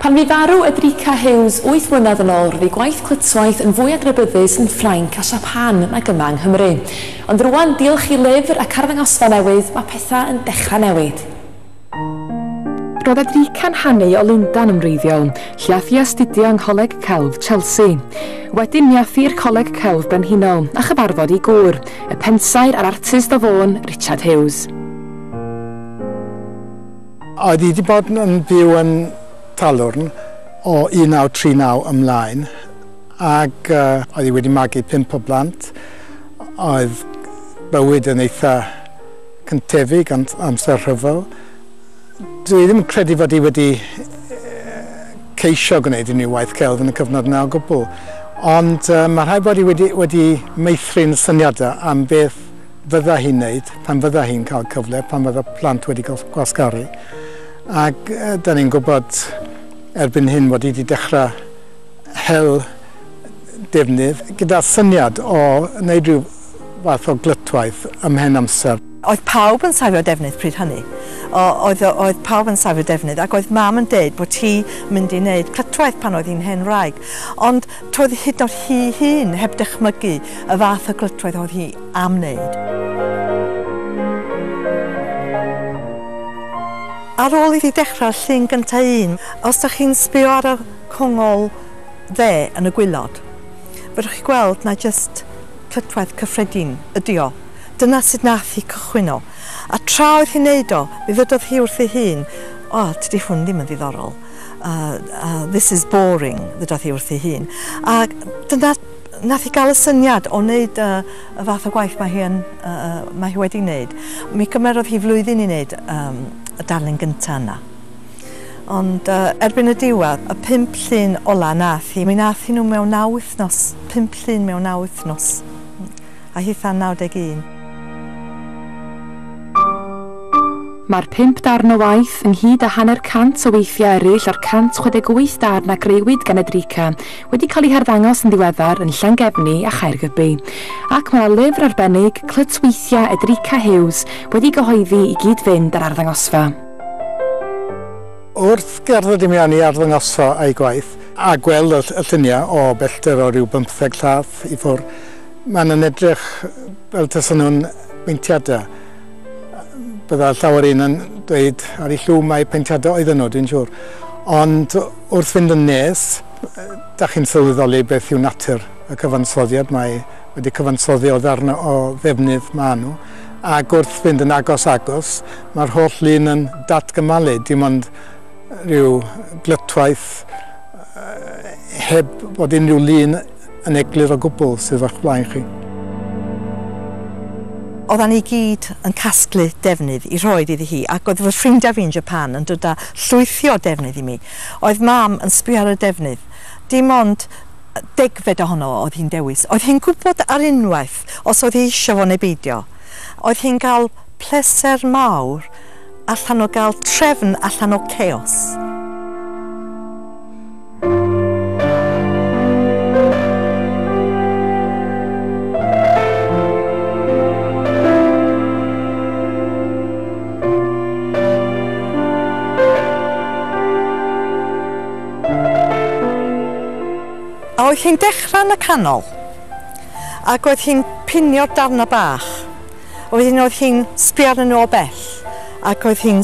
Pan fu farw Edrica Hughes 8 mlynedd yn ôl, roedd ei gwaith clytwaith yn fwy adnabyddus yn Ffrainc a Siapan nag yma yng Nghymru. Ond rŵan, diolch i lyfr ac arddangosfa newydd, mae pethau yn dechrau newid. Roedd Edrica'n hanu o Lundain yn wreiddiol, lle ath hi astudio yng Ngholeg Celf Chelsea. Wedyn mi ath hi i'r Coleg Celf Brenhinol a chyfarfod ei gŵr, y pensaer a'r artist o Fôn, Richard Hughes. Oedd hi wedi bod yn byw yn Talwrn o 1939 ymlaen, ac oedd hi wedi magu 5 o blant. Oedd bywyd yn eitha cyntefig amser rhyfel. Dwi ddim yn credu fod hi wedi ceisio gwneud unrhyw waith celf yn y cyfnod yna o gwbl, ond mae rhaid bod hi wedi meithrin syniadau am beth fydda hi'n wneud pan fydda hi'n cael cyfle, pan fydda plant wedi gwasgaru. Ac da ni'n gwybod erbyn hyn bod hi wedi dechrau hel defnydd gyda syniad o wneud rhyw fath o glytwaith ymhen amser. Oedd pawb yn safio defnydd pryd hynny. Oedd pawb yn safio defnydd, ac oedd mam yn deud bod hi mynd i wneud clytwaith pan oedd hi'n hen wraig. Ond toedd hyd yn oed hi hun heb dychmygu y fath o glytwaith oedd hi am wneud. Ar ôl iddi dechrau'r llun gyntaf un, os ydych chi'n sbio ar y congol dde yn y gwaelod, fedrwch chi gweld na jyst clytwaith cyffredin ydi o. Dyna sut nath hi cychwyn o. A tra oedd hi'n neud o, mi ddydodd hi wrth ei hun, o, tydi hwn ddim yn ddiddorol. This is boring, ddydodd hi wrth ei hun. A dyna nath hi gael y syniad o wneud y fath o gwaith mae hi wedi wneud. Mi gymerodd hi flwyddyn i wneud y darlun gyntaf yna. Ond erbyn y diwedd, y 5 llun ola nath hi, mi nath hi nhw mewn 9 wythnos, 5 llun mewn 9 wythnos, a hitha'n 91. Mae'r 5 darn o waith, ynghyd â 150 o weithiau eraill o'r 168 darn a grëwyd gan Edrica, wedi cael eu harddangos yn ddiweddar yn Llangefni a Chaergybi. Ac mae yna lyfr arbennig, Clytweithiau Edrica Hughes, wedi gyhoeddi i gyd-fynd â'r arddangosfa. Wrth gerdded i mewn i arddangosfa a'i gwaith, a gweld y lluniau o bellter o ryw 15 llath i ffwrdd, maen nhw'n edrych fel tasen nhw'n beintiadau. Bydda llawer un yn dweud ar ei llw mai peintiadau oedden nhw, dwi'n siŵr. Ond wrth fynd yn nes, da chi'n sylweddoli beth yw natur y cyfansoddiad. Mae wedi cyfansoddi o ddarn o ddefnydd maen nhw. Ac wrth fynd yn agos-agos, mae'r holl lun yn datgymalu, dim ond rhyw glytwaith heb bod unrhyw lun yn eglur o gwbl sydd o'ch blaen chi. Oeddan ni gyd yn casglu defnydd i roed iddi hi, ac oedd fy ffrindiau fi yn Japan yn dod â llwythi o defnydd i mi. Oedd mam yn sbio ar y defnydd. Dim ond 10fed ohono oedd hi'n dewis. Oedd hi'n gwybod ar unwaith os oedd hi eisiau fo neu beidio. Oedd hi'n cael pleser mawr allan o gael trefn allan o chaos. A oedd hi'n dechrau yn y canol, ac oedd hi'n pinio'r darnau bach. Wedyn oedd hi'n sbio arnyn nhw o bell, ac oedd hi'n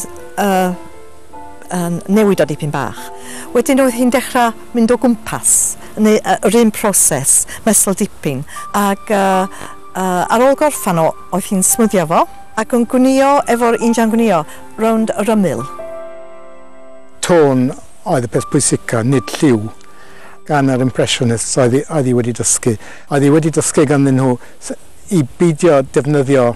newid o dipyn bach. Wedyn oedd hi'n dechrau mynd o gwmpas, neu yr un proses, mesel dipyn. Ac ar ôl gorffan o, oedd hi'n smwddio fo, ac yn gwnïo efo'r injan gwnïo rownd yr ymyl. Tôn oedd y peth pwysica, nid lliw. Gan yr Impressionists oedd hi wedi dysgu. Oedd hi wedi dysgu ganddyn nhw i beidio defnyddio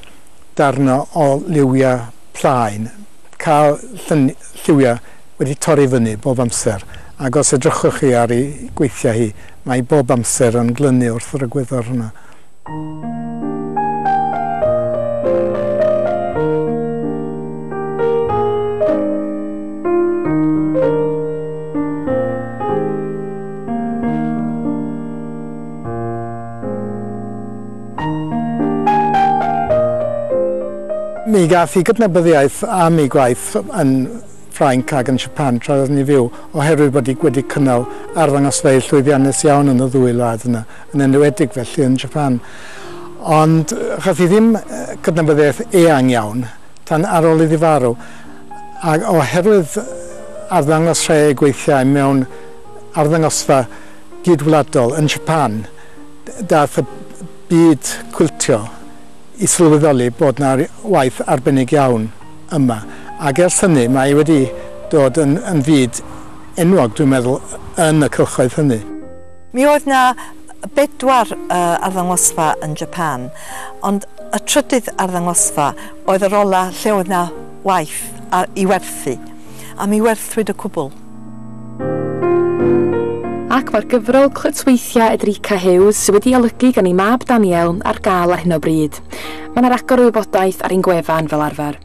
darnau o liwiau plaen, cael lliwiau wedi torri fyny bob amser. Ac os edrychwch chi ar ei gweithiau hi, mae bob amser yn glynu wrth yr egwyddor hwnna. Mi gath hi gydnabyddiaeth am ei gwaith yn Ffrainc ac yn Japan tra oedd ni fyw, oherwydd bod hi wedi cynnal arddangosfeydd llwyddiannus iawn yn y ddwy wlad yna, yn enwedig felly yn Japan. Ond chath hi ddim cydnabyddiaeth eang iawn tan ar ôl iddi farw. Ac oherwydd arddangos rhai o'i gweithiau mewn arddangosfa gydwladol yn Japan, dath y byd cwiltio i sylweddoli bod 'na waith arbennig iawn yma. Ac ers hynny mae wedi dod yn, yn fyd enwog, dwi'n meddwl, yn y cylchoedd hynny. Mi oedd 'na bedwar arddangosfa yn Japan, ond y trydydd arddangosfa oedd yr ola lle oedd 'na waith i werthu, a mi werthwyd y cwbl. Ac mae'r gyfrol Clytweithiau Edrica Hughes, sydd wedi olygu gan ei mab Daniel, ar gael ar hyn o bryd. Mae yna ragor o wybodaeth ar ein gwefan fel arfer.